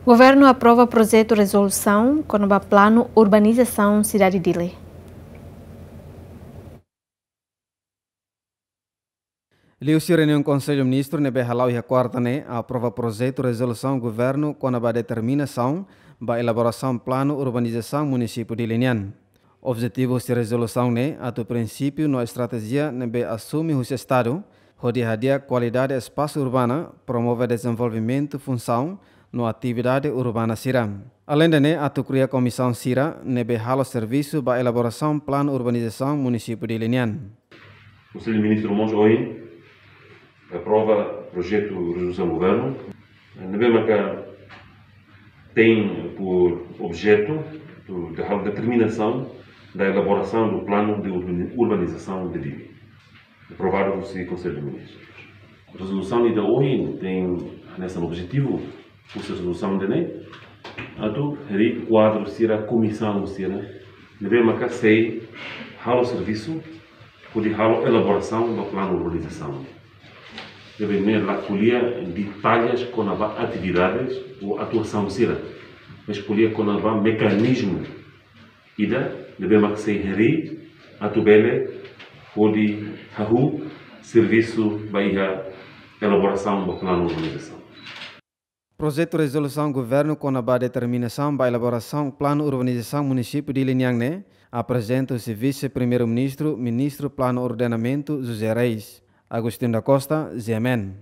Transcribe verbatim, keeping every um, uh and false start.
Governu aprova projetu rezolusaun kona-ba planu urbanizasaun sidade Dili. Liuhusi reuniaun Konsellu Ministru ne'ebé hala'o iha kuarta ne'e, aprova projetu rezolusaun governu kona-ba determinasaun ba elaborasaun planu urbanizasaun munisípiu Dili nian. Objetivu husi rezolusaun ne'e atu prinsípiu no estratéjia ne'ebé asume husi Estadu, hodi hadi'a kualidade espasu urbana, promove dezenvolvimentu funsaun no atividade urbana sira. Aleinde ne'e, atu kria komisaun sira ne'ebé halo servisu ba elaborasaun planu urbanizasaun munisípiu Dili nian. Konsellu Ministru mós ohin aprova projetu rezolusaun governu, ne'ebé maka tem por objeto do, da determinação da elaboração do plano de urbani-, urbanização de Dili, aprovado husi Konsellu Ministru. Rezolusaun ida ohin tem nessa objetivu, husi rezolusaun ida-ne'e, atu harii kuadru sira, komisaun sira ne'ebé maka sei halo servisu, hodi halo elaborasaun ba planu urbanizasaun. Ne'ebé ne'e la ko'alia detalles kona-ba atividades ou atuasaun sira, mas ko'alia kona-ba mekanizmu ida ne'ebé maka sei harii atu bele hodi hahú servisu ba iha elaborasaun ba planu urbanizasaun. Projetu rezolusaun governu kona-ba determinasaun ba elaborasaun planu urbanizasaun munisípiu Dili nian ne'e aprezenta husi Vise-Primeiru-Ministru, Ministru Planu Ordenamentu, José Reis. Agostinho da Costa, G M N.